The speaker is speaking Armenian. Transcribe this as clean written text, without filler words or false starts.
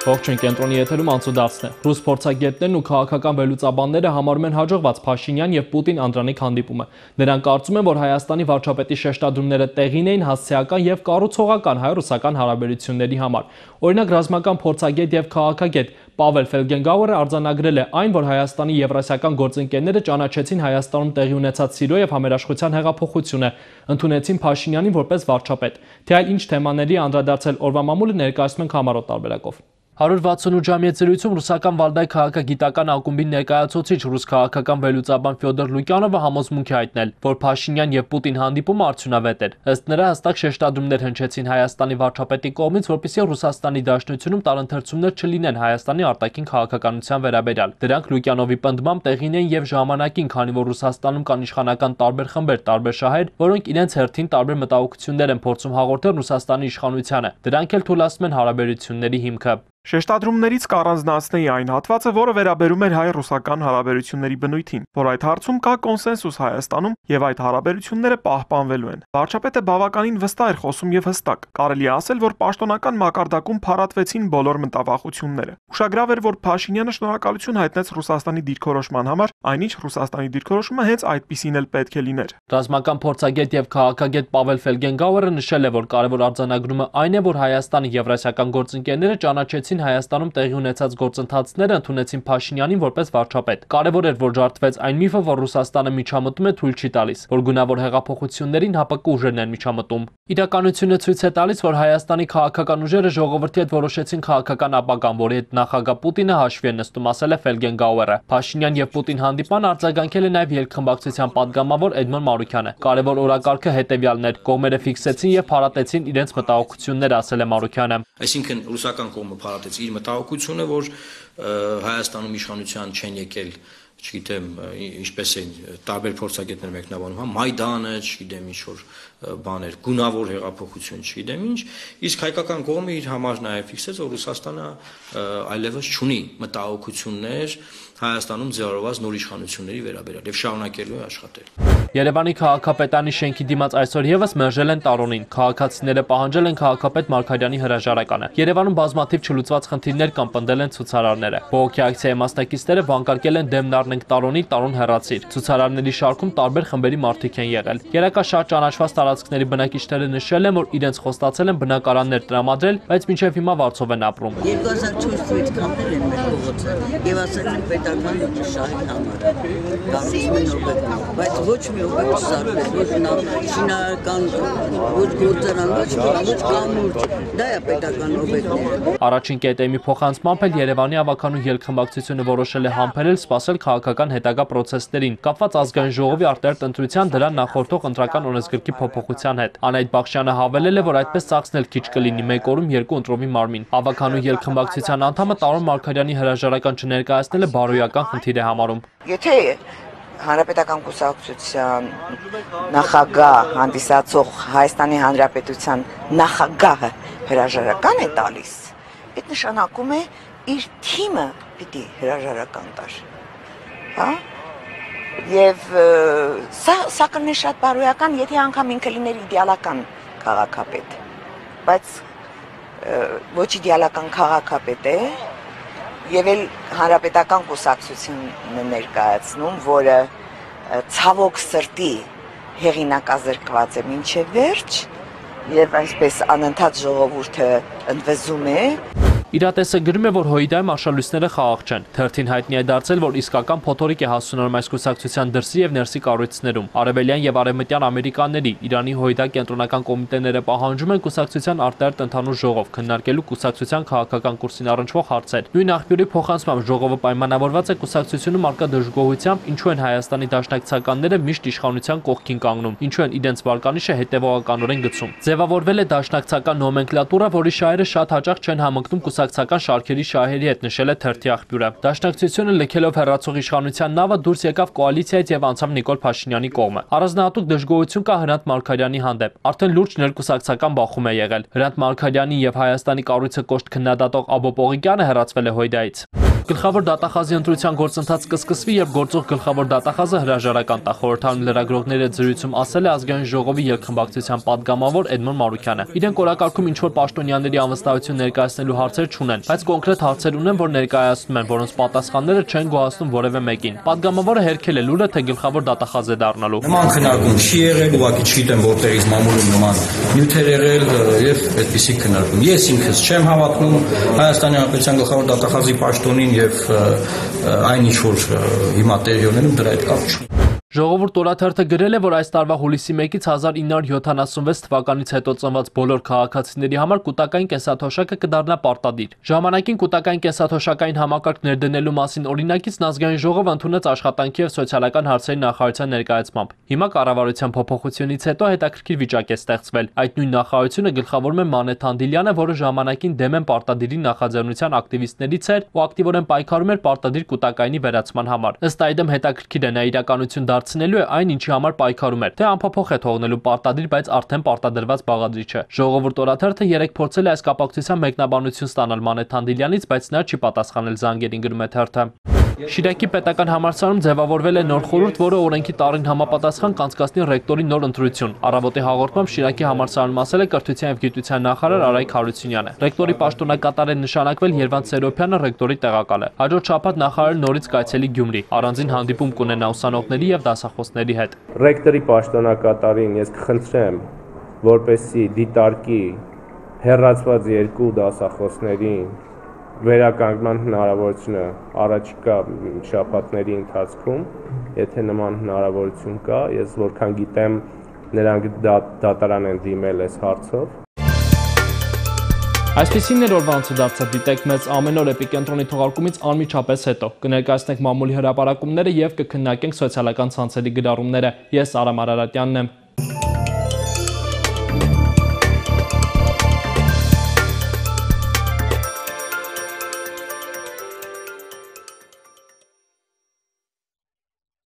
Ողջույն, կենտրոնի եթերում անցուդարձն է։ Ռուս փորձագետներն ու քաղաքական վերլուծաբանները համարում են հաջողված Փաշինյան եւ Պուտին-Անդրանիկ հանդիպումը։ Նրանք կարծում են, որ Հայաստանի վարչապետի շեշտադրումները տեղին էին հասցեական եւ կառուցողական հայ-ռուսական հարաբերությունների համար։ Օրինակ, ռազմական փորձագետ եւ քաղաքագետ Պավել Ֆելգենգաուերը արձանագրել է այն, որ Հայաստանի եվրասիական գործընկերները ճանաչեցին Հայաստանում տեղի ունեցած Սիրիո եւ համերաշխության հեղափոխությունը, ընդունեցին Փաշինյանին որպես վարչապետ։ Թե այլ ինչ թեմաների անդրադարձել օրվա մամուլը ներկայացնում ենք համառոտ տարբերակով։ 168 ժամյա զրույցում ռուսական Վալդայ քաղաքագիտական ակումբի ներկայացուցիչ ռուս քաղաքական վերլուծաբան Ֆյոդոր Լուկյանովը համոզմունք է հայտնել, որ Փաշինյան եւ Պուտին հանդիպումը արդյունավետ էր։ Ըստ նրա, հստակ շեշտադրումներ հնչեցին Հայաստանի վարչապետի կողմից, որպեսզի Ռուսաստանի Դաշնությունում տարընթերցումներ չլինեն Հայաստանի արտաքին քաղաքականության վերաբերյալ։ Դրանք Լուկյանովի պնդմամբ տեղին էին եւ ժամանակին, քանի որ Ռուսաստանում կան իշխանական տարբեր խմբեր, տարբեր շահեր, որոնք իրենց հերթին տարբեր մտահոգություններ են փորձում հաղորդել Ռուսաստանի իշխանությանը։ Դրանք էլ թույլատնում են հարաբերությունների հիմքը։ Շեշտադրումներից կառանձնացնեի այն հատվածը, որը վերաբերում էր հայ-ռուսական հարաբերությունների բնույթին, որ այդ հարցում կա կոնսենսուս Հայաստանում եւ այդ հարաբերությունները պահպանվելու են։ Վարչապետը բավականին վստահ էր խոսում եւ հստակ։ Կարելի է ասել, որ պաշտոնական մակարդակում փառատվեցին բոլոր մտավախությունները։ Ուշագրավ էր, որ Փաշինյանը շնորհակալություն հայտնեց Ռուսաստանի դիրքորոշման համար, այնինչ Ռուսաստանի դիրքորոշումը հենց այդպիսին էլ պետք է լիներ։ Ռազմական փորձագետ եւ քաղաքագետ Պավել Ֆելգենգաուերը նշել է, որ կարևոր արձանագրումը այն է, որ Հայաստանի եվրասիական գործընկերները ճանաչեցին Հայաստանում տեղի ունեցած գործընթացները, ընդունեցին Փաշինյանին որպես վարչապետ։ Կարևոր էր, որ ջարդվեց այն միֆը, որ Ռուսաստանը միջամտում է, թույլ չի տալիս, որ գունավոր հեղափոխություններին ՀԱՊԿ ուժերն են միջամտում։ Իրականությունը ցույց է տալիս, որ Հայաստանի քաղաքական ուժերը ժողովրդի հետ որոշեցին քաղաքական ապագան, որի հետ նախագահ Պուտինը հաշվի է նստում, ասել է Ֆելգենգաուերը։ Փաշինյան եւ Պուտին հանդիպան արձագանքել է նաեւ երկխմբակցության падգամավոր Էդմոն Մարուքյանը։ Կարևոր օրակարգը հետեւյալն էր. կողմերը ֆիքսեցին եւ փառատեցին իրենց մտահոգությունները, ասել է Մարուքյանը։ Այսինքն ռուսական կողմը փառատեց իր մտահոգությունը, որ Հայաստանում իշխանության չեն եկել, չգիտեմ, ինչպես են տարբեր փորձագետներ մեկնաբանում, Մայդանը, չգիտեմ, ինչ որ բաներ, գունավոր հեղափոխություն, չգիտեմ ինչ, իսկ հայկական կողմը իր համար նաև ֆիքսեց, որ Ռուսաստանը այլևս չունի մտահոգություններ Հայաստանում ձևավորված նոր իշխանությունների վերաբերյալ եւ շարունակելու է աշխատել։ Երևանի քաղաքապետարանի շենքի դիմաց այսօր եւս մերժել են տարոնին։ Քաղաքացիները պահանջել են քաղաքապետ Մարգարյանի հրաժարականը։ Երևանում բազմաթիվ չլուծված խնդիրներ կամ պնդել են ցուցարարները։ Բողոքի ակցիայի մասնակիցները վանկարկել են դեմն առնենք տարոնի, տարոն հեռացիր։ Ցուցարարների շարքում տարբեր խմբերի մարդիկ են եղել։ Երակա շատ ճանաչված տարածքների բնակիչները նշել են, որ իրենց խոստացել են բնակարաններ տրամադրել, բայց մինչև հիմա վարձով են ապրում։ 2004 թվականից կանել են մեր փողոցը եւ ասել են պետական շահի համար։ Գալիս են օբյեկտ, բայց ոչ մի օբյեկտ չսարքվել, ոչ շինարարական, ոչ գործարան, ոչ կամուրջ, դա է պետական օբյեկտները։ Առաջին կետեմի փոխանցմամբ էլ Երևանի ավականու ելքխմբակցությունը որոշել է համբերել սպասել քաղաքական հետագա պրոցեսներին, կապված ազգային ժողովի արտահերթ ընտրության դրան նախորդող ընտրական օրենսգրքի փոփոխության հետ։ Անահիտ Բախշյանը հավելել է, որ այդպես ծախսնել քիչ կլինի, 1 օրում 2 ընտրովի մարմին։ Ավականու ելքխմբակցության անդամը Տարոն Մարգարյանի հրաժարական չներկայացնելը բարոյական խնդիր է համարում։ Եթե Հանրապետական կուսակցության նախագահ հանդիսացող Հայաստանի Հանրապետության նախագահը հրաժարական է տալիս, այդ նշանակում է իր թիմը պիտի հրաժարական տար։ Հա? Եվ սա կլինի շատ բարոյական, եթե անգամ ինքը լիներ իդեալական քաղաքապետ, բայց ոչ իդեալական քաղաքապետ է, եւ էլ հանրապետական կուսակցությունն է ներկայացնում, որը ցավոք սրտի հեղինակազրկված է մինչև վերջ եւ այսպես անընդհատ ժողովուրդը ընդվզում է։ Իրատեսը գրում է, որ Հոիդայում արշալույսները խաղաղ չեն։ Թերթին հայտնի է դարձել, որ իսկական փոթորիկ է հասունանում այս կուսակցության դրսի եւ ներսի կառույցներում։ Արևելյան եւ արևմտյան ամերիկանների Իրանի Հոիդա կենտրոնական կոմիտեները պահանջում են կուսակցության արտահերթ ընդհանուր ժողով քննարկելու կուսակցության քաղաքական կուրսին առնչվող հարցեր։ Նույն աղբյուրի փոխանցմամբ ժողովը պայմանավորված է կուսակցությունում արկա դժգոհությամբ, ինչու են Հայաստանի դաշնակցականները միշտ իշխանության կողքին կանգնում, ինչու են իրենց վարկանիշը հետևողականորեն գցում։ Ձևավորվել է դաշնակցական նոմենկլատուրա, որի շահերը շատ հաճախ չեն համընկնում կուսակցական շարքերի շահերի հետ, նշել է թերթի աղբյուրը։ Դաշնակցությունը լքելով հեռացող իշխանության նավը դուրս եկավ կոալիցիայից եւ անցավ Նիկոլ Փաշինյանի կողմը։ Առանձնահատուկ դժգոհություն կա Հրանտ Մարգարյանի հանդեպ։ Արդեն լուրջ ներկուսակցական բախում է եղել։ Հրանտ Մարգարյանի եւ Հայաստանի կառույցը կոշտ քննադատող Աբո Պողիկյանը հեռացվել է Հոիդայից։ Գլխավոր դատախազի ընտրության գործընթաց կսկսվի, երբ գործող գլխավոր դատախազը հրաժարական տա, խորհրդարանի լրագրողների հետ զրույցում ասել է Ազգային ժողովի երկխմբակցության падգամավոր Էդմոն Մարուկյանը։ Իրենք օրակարգում ինչ-որ պաշտոնյաների անվստահություն ներկայացնելու հարցեր չունեն, բայց կոնկրետ հարցեր ունեն, որ ներկայացնում են, որոնց պատասխանները չեն գոհացնում որևէ մեկին։ Падգամավորը հերքել է լուրը, թե գլխավոր դատախազ է դառնալու։ Նման քննարկում չի եղել, ուղղակի չգիտեմ որտեղից մամուլում նման նյութեր եղել եւ այդպիսի քննարկում։ Ես ինքս չեմ հավատնում Հայաստանի Հանրապետության գլխավոր դատախազի պաշտոնին եւ այն ինչ որ հիմա տեղի ունենում դրա հետ կապ չունի։ Ժողովուրդ օրաթերթը գրել է, որ այս տարվա հուլիսի 1-ից 1976 թվականից հետո ծնված բոլոր քաղաքացիների համար կൂട്ടակային կենսաթոշակը կդառնա պարտադիր։ Ժամանակին կൂട്ടակային կենսաթոշակային համակարգ ներդնելու մասին օրինակիցն Ազգային ժողովը ընդունեց աշխատանքի եւ սոցիալական հարցերի նախարարության ներկայացմամբ։ Հիմա կառավարության փոփոխությունից հետո հետաքրքիր վիճակ է ստեղծվել։ Այդ նույն նախարարությունը գլխավորում է Մանե Թանդիլյանը, որը ժամանակին դեմ են պարտադիրի նախաձեռնության ակտիվիստներից էր ու ակտիվորեն պայքարում էր պարտադիր կൂട്ടակայինի վերացման համար։ Ըստ այդմ հետաքրքիր է նա իրականություն դարձնելու է այն, ինչի համար պայքարում էր, թե անփոփոխ է թողնելու պարտադիր, բայց արդեն պարտադրված բաղադրիչը։ Ժողովուրդ օրաթերթը 3 փորձել է այս կապակցությամբ մեկնաբանություն ստանալ Մանե Թանդիլյանից, բայց նա չի պատասխանել զանգերին, գրում է թերթը։ Շիրակի պետական համալսարանում ձևավորվել է նոր խորհուրդ, որը օրենքի տարին համապատասխան կանցկացնի ռեկտորի նոր ընտրություն։ Առավոտի հաղորդմամբ Շիրակի համալսարանում ասել է կրթության և գիտության նախարար Արայք Հարությունյանը։ Ռեկտորի պաշտոնակատար է նշանակվել Երվանդ Սերոբյանը, ռեկտորի տեղակալ է։ Հաջորդ շաբաթ նախարարը նորից կայցելի Գյումրի, առանձին հանդիպում կունենա ուսանողների և դասախոսների հետ։ Ռեկտորի պաշտոնակատարին ես կխնդրեմ, որպեսզի դիտարկի հեռացված 2 դասախոսներին վերականգնման հնարավորությունը առաջիկա շաբաթների ընթացքում, եթե նման հնարավորություն կա, ես որքան գիտեմ, նրանք դատարան են դիմել այս հարցով։ Այսպիսին էր օրվա անցուդարձը, դիտեք մեզ ամեն օր Էպիկենտրոնի թողարկումից անմիջապես հետո։ Կներկայացնենք մամուլի հրապարակումները և կքննարկենք սոցիալական ցանցերի գրառումները։ Ես Արամ Արարատյանն եմ։